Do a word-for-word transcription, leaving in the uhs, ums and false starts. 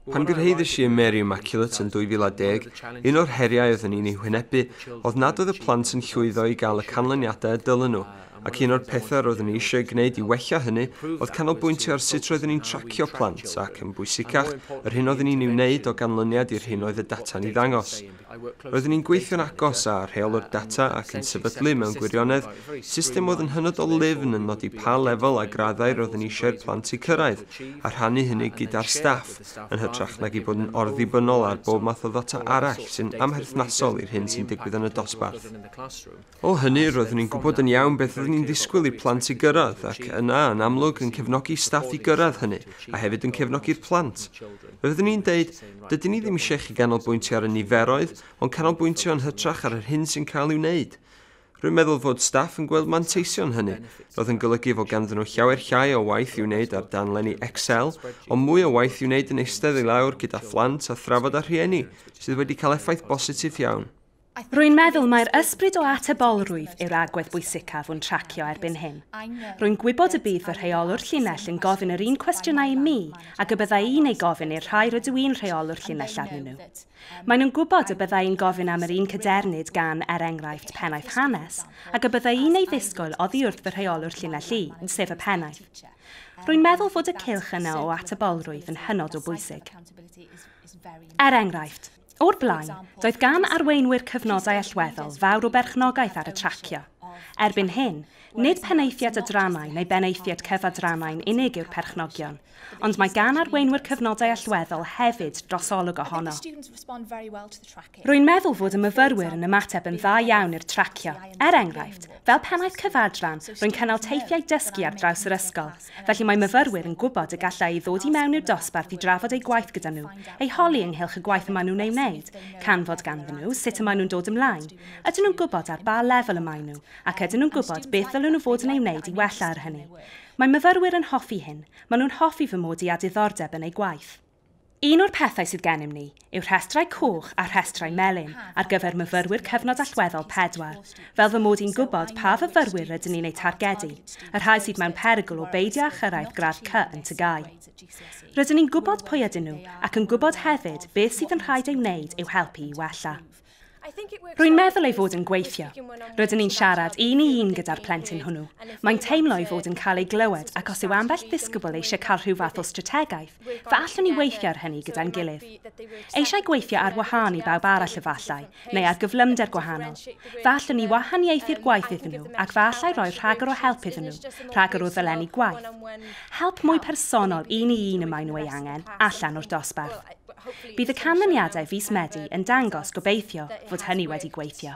Pan gyrhaeddais i ym Mary Immaculate yn dwy fil a deg, un o'r heriau oeddwn i'n ei hwynebu oedd nad oedd y plant yn llwyddo i gael y canlyniadau y dylen nhw, ac un o'r pethau roeddwn i eisiau gwneud i wella hynny oedd canolbwyntio ar sut roeddwn i'n tracio plant ac, yn bwysicach, yr hyn oeddwn i'n ei wneud o ganlyniad i'r hyn oedd y data'n ei ddangos. Roeddwn i'n gweithio'n agos â rheolwr data ac yn sefydlu mewn gwirionedd system oedd yn hynod o lyfn yn nodi pa lefel a graddau roeddwn i eisiau'r plant i cyrraedd, a rhannu hynny gyda'r staff, yn hytrach nag i bod yn orddibynnol ar bob math o ddata arall sy'n amherthnasol i'r hyn sy'n digwydd yn y dosbarth. O hynny, roeddwn i'n gwybod yn iawn beth oeddwn i'n ddisgwyl i'r plant i gyrraedd, ac yna, yn amlwg, yn cefnogi staff i gyrraedd hynny, a hefyd yn cefnogi'r plant. Fe fyddwn i'n deud, dydyn ni ddim eisiau chi ganolbwyntio ar y niferoedd, ond canolbwyntio yn hytrach ar yr hyn sy'n cael ei wneud. Rwy'n meddwl fod staff yn gweld manteision hynny. Roedd yn golygu fod ganddyn nhw llawer llai o waith i'w wneud ar danlenni Excel, ond mwy o waith i'w wneud yn eistedd i lawr gyda phlant a thrafod â rhieni, sydd wedi cael effaith bositif iawn. Rwy'n meddwl mai'r ysbryd o atebolrwydd yw'r agwedd bwysicaf o'n tracio erbyn hyn. Rwy'n gwybod y bydd fy rheolwr llinell yn gofyn yr un cwestiynau i mi ac y bydda i'n ei gofyn i'r rhai rydw i'n rheolwr llinell arnyn nhw. Maen nhw'n gwybod y bydda i'n gofyn am yr un cadernid gan, er enghraifft, pennaeth hanes, ac y bydda i'n ei ddisgwyl oddi wrth fy rheolwr llinell i, sef y pennaeth. Rwy'n meddwl fod y cylch yna o atebolrwydd yn hynod o bwysig. Er enghraifft, o'r blaen, doedd gan arweinwyr cyfnodau allweddol fawr o berchnogaeth ar y tracio. Erbyn hyn, nid penaethiaid adrannau neu benaethiaid cyfadrannau'n unig yw'r perchnogion, ond mae gan arweinwyr cyfnodau allweddol hefyd drosolwg ohono. Rwy'n meddwl fod y myfyrwyr yn ymateb yn dda iawn i'r tracio. Er enghraifft, fel pennaeth cyfadran, rwy'n cynnal teithiau dysgu ar draws yr ysgol, felly mae myfyrwyr yn gwybod y gallai i ddod i mewn i'r dosbarth i drafod eu gwaith gyda nhw, eu holi ynghylch y gwaith y maen nhw'n ei wneud, canfod ganddyn nhw sut y maen nhw'n dod ymlaen, ydyn nhw'n gwybod ar ba lefel y maen nhw, ac ydyn nhw'n gwybod beth ddylen nhw fod yn ei wneud i wella ar hynny. Mae myfyrwyr yn hoffi hyn, maen nhw'n hoffi fy mod i â diddordeb yn eu gwaith. Un o'r pethau sydd gennym ni yw rhestrau coch a rhestrau melyn ar gyfer myfyrwyr cyfnod allweddol pedwar, fel fy mod i'n gwybod pa fyfyrwyr rydyn ni'n eu targedu, y rhai sydd mewn perygl o beidio â chyrraedd gradd C yn T G A U. Rydyn ni'n gwybod pwy ydyn nhw ac yn gwybod hefyd beth sydd yn rhaid ei wneud i'w helpu i wella. Rwy'n meddwl ei fod yn gweithio. Rydyn ni'n siarad un i un gyda'r plentyn hwnnw. Mae'n teimlo ei fod yn cael ei glywed ac os yw ambell ddisgybl eisiau cael rhyw fath o strategaeth, fe allwn ni weithio ar hynny gyda'n gilydd. Eisiau gweithio ar wahân i bawb arall efallai, neu ar gyflymder gwahanol. Fe allwn ni wahaniaethu'r gwaith iddyn nhw ac fe allai roi rhagor o help iddyn nhw, rhagor o ddolenni gwaith. Help mwy personol un i un y maen nhw ei angen, allan o'r dosbarth. Bydd y canlyniadau fis Medi yn dangos gobeithio fod hynny wedi gweithio.